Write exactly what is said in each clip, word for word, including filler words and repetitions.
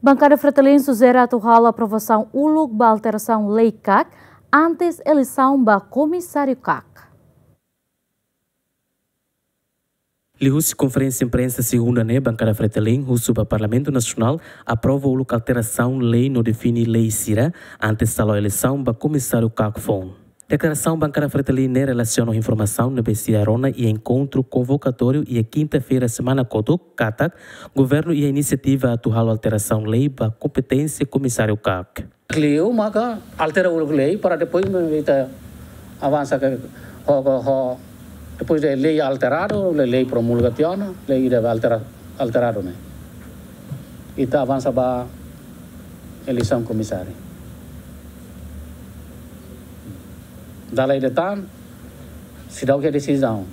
Bankada Fretilin sujere atu halo aprovasaun uluk ba alterasaun lei kak antes eleisaun ba komisáriu kak. Liuhusi konferénsia imprensa segunda ne'e, Bankada Fretilin husu ba Parlamentu Nasionál aprova uluk alterasaun lei no define lei sira antes halo eleisaun ba komisáriu kak foun. Deklarasaun Bankada Fretilin ne'e relasiona ho informasaun ne'ebé sira rona iha enkontru konvokatóriu iha kinta-feira semana kotuk katak governu iha inisiativa atu halo alterasaun lei ba kompeténsia komisáriu kak. Liu maka altera uluk lei para depois ita avansa ke ho, ho, ho, depois de lei alteradu, lei, lei promulga tiha ona, lei ida altera, alteradu ne'e. Ita avansa ba eleisaun komisáriu. Dala ida tan, seidauk iha desizaun.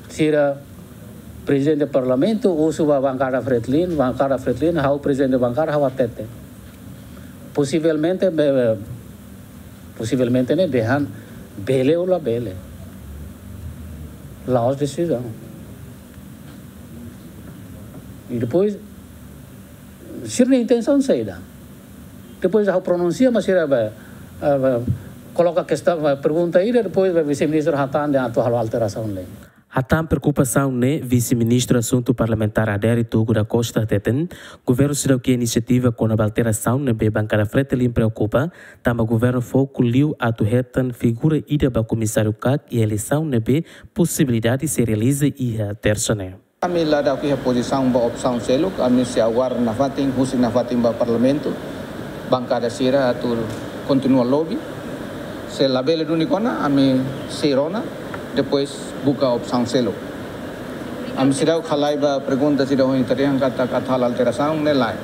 Sira prezidente parlamentu husu ba Bankada Fretilin, Bankada Fretilin, ha'u prezidente bankada, ha'u hatete. Posivelmente, be-, be-, posivelmente ne'e dehan bele ou labele. La'ós desizaun. I depois, sira-nia intensaun saida? Depois ha'u pronunsia, mas sira be, eh, be, koloka kestaun, be, pergunta ida, depois be vise-ministru hatán dehan atu halo alterasaun lei. Hatán preokupasaun ne'e, vise-ministru asuntu parlamentár Adérito Rui da Costa hateten, governu seidauk iha inisiativa kona-ba alterasaun ne'ebé Bankada Fretilin preokupa, tanba governu foku liu atu hetan figura ida ba komisáriu kak iha eleisaun ne'ebé posibilidade sei realiza iha tersa ne'e. Ami la daudaun iha pozisaun ba opsaun seluk, ami sei aguarda nafatin, husik nafatin ba parlamentu, bankada sira atu kontinua lobi. Se labele duni kona, ami sei rona, depois buka opsaun seluk. Ami seidauk halai ba pergunta sira ohin tadi yang kata, kata halo alterasaun ne'e lae.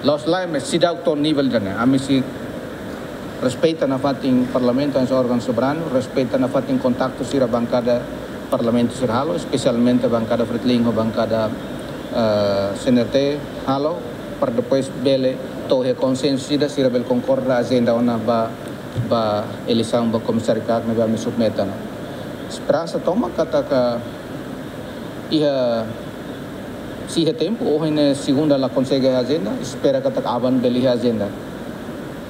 La'ós lae, mas seidauk to'o nivel ida-ne'e. Ami sei respeita nafatin parlamentu, hanesan órgaun soberanu, respeita nafatin kontaktu sira bankada parlamentu sira halo, espesialmente bankada Fretilin ho bankada, eh, C N R T halo, para depois bele to'o iha konsensu ida, sira bele konkorda ajenda ona ba, ba eleisaun ba komisáriu kak ne'ebé ami submete ona. Esperansa tomak katak iha, sei iha tempu, ohin ne'e segunda la konsege ajenda, espera katak aban bele iha ajenda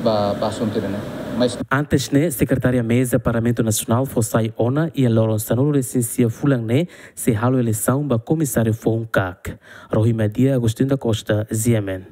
ba, ba asuntu ida-ne'e. Mas antes ne'e, Sekretária Meza Parlamentu Nasionál fó sai ona iha loron sanulu-resin-sia fulan ne'e sei halo eleisaun ba komisáriu foun kak. Rohi Madia, Agostinho da Costa, G M N.